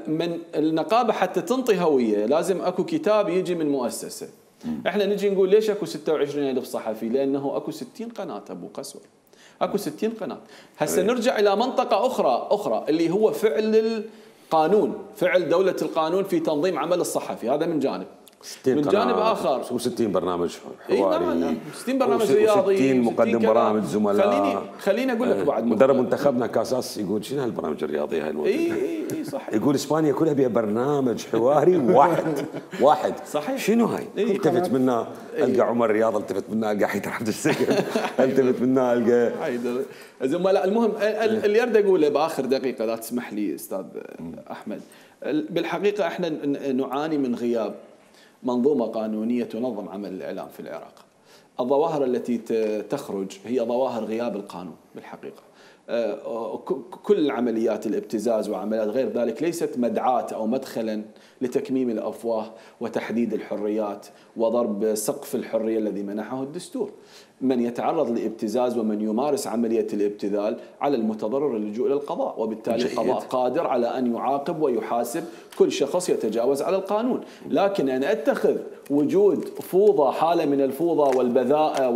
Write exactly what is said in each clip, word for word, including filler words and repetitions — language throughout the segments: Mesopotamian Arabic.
من النقابه حتى تنطي هويه لازم اكو كتاب يجي من مؤسسه. احنا نجي نقول ليش اكو ستة وعشرين ألف صحفي؟ لانه اكو ستين قناه ابو قسوه، اكو ستين قناه. هسه نرجع الى منطقه اخرى اخرى اللي هو فعل القانون، فعل دوله القانون في تنظيم عمل الصحفي، هذا من جانب. من جانب اخر شو ستين برنامج حواري؟ اي نعم نعم ستين برنامج رياضي، ستين مقدم برامج زملاء. خليني خليني اقول لك بعد مدرب منتخبنا كاساس يقول شنو هالبرامج الرياضيه هاي الموجوده؟ اي اي اي صح. يقول اسبانيا كلها بها برنامج حواري واحد واحد. صحيح. شنو هاي؟ التفت منا القى عمر رياض، التفت منا القى حيدر عبد السيد، التفت منا القى حيدر زملاء. المهم اللي اريد اقوله باخر دقيقه اذا تسمح لي استاذ احمد، بالحقيقه احنا نعاني من غياب منظومة قانونية تنظم عمل الإعلام في العراق. الظواهر التي تخرج هي ظواهر غياب القانون بالحقيقة. كل عمليات الابتزاز وعمليات غير ذلك ليست مدعاة أو مدخلا لتكميم الأفواه وتحديد الحريات وضرب سقف الحرية الذي منحه الدستور. من يتعرض لابتزاز ومن يمارس عملية الابتذال على المتضرر اللجوء إلى القضاء، وبالتالي القضاء قادر على أن يعاقب ويحاسب كل شخص يتجاوز على القانون. لكن أن أتخذ وجود فوضى، حالة من الفوضى والبذاءة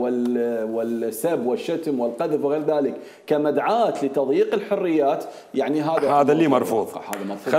والسب والشتم والقذف وغير ذلك كمدعاة لتضييق الحريات، يعني هذا هذا اللي مرفوض. هذا مرفوض.